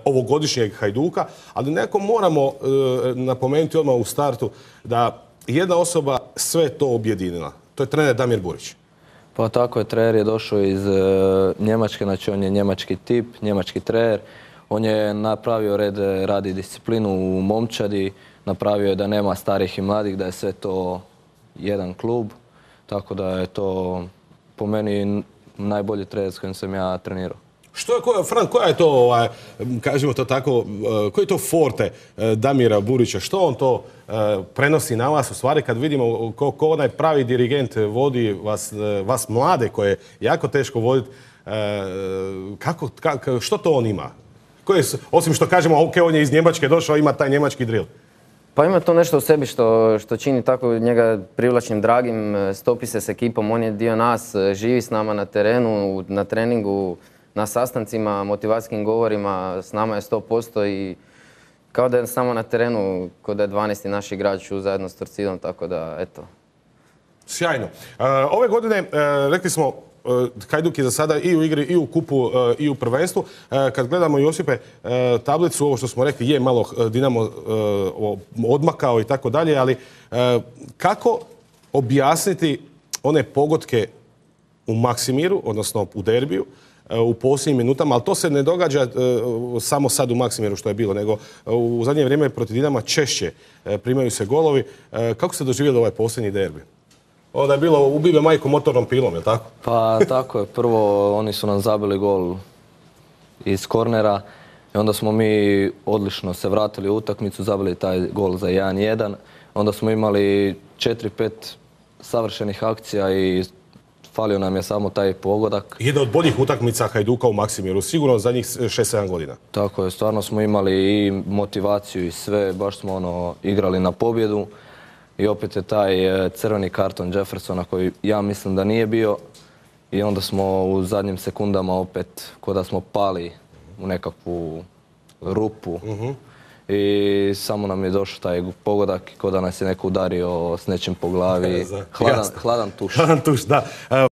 ovogodišnjeg Hajduka, ali nekako moramo napomenuti odmah u startu da jedna osoba sve to objedinila. To je trener Damir Burić. Pa tako je, trener je došao iz Njemačke, znači on je njemački tip, njemački trener. On je napravio red, radi disciplinu u momčadi, napravio je da nema starih i mladih, da je sve to jedan klub. Tako da je to po meni najbolji trener s kojim sam ja trenirao. Frank, koja je to, kažemo to tako, koji je to forte Damira Burića? Što on to prenosi na vas? U stvari kad vidimo ko onaj pravi dirigent vodi vas mlade koje je jako teško voditi, što to on ima? Osim što kažemo, ok, on je iz Njemačke došao, ima taj njemački drill. Pa ima to nešto u sebi što čini tako njega privlačnim, dragim, stopi se s ekipom, on je dio nas, živi s nama na terenu, na treningu, na sastancima, motivacijskim govorima, s nama je 100% i kao da je samo na terenu, kao da je 12. naš igrač zajedno s Torcidom, tako da, eto. Sjajno. Ove godine, rekli smo, Hajduk je za sada i u igri, i u kupu, i u prvenstvu. Kad gledamo, Josipe, tablicu, ovo što smo rekli, je malo Dinamo odmakao i tako dalje, ali kako objasniti one pogodke u Maksimiru, odnosno u derbiju, u posljednjim minutama, ali to se ne događa samo sad u Maksimiru što je bilo, nego u zadnje vrijeme protiv Dinama češće primaju se golovi. Kako ste doživjeli ovaj posljednji derbi? Ovo da je bilo ubive majku motornom pilom, je li tako? Pa tako je. Prvo oni su nam zabili gol iz kornera i onda smo mi odlično se vratili u utakmicu, zabili taj gol za 1-1. Onda smo imali 4-5 savršenih akcija i falio nam je samo taj pogodak. Jedna od boljih utakmica Hajduka u Maksimiru, sigurno zadnjih 6-7 godina. Tako je, stvarno smo imali i motivaciju i sve, baš smo igrali na pobjedu. I opet je taj crveni karton Jeffersona koji ja mislim da nije bio. I onda smo u zadnjim sekundama opet, ko da smo pali u nekakvu rupu. I samo nam je došao taj pogodak i ko da nas je neko udario s nečim po glavi. Hladan tuš. Hladan tuš, da.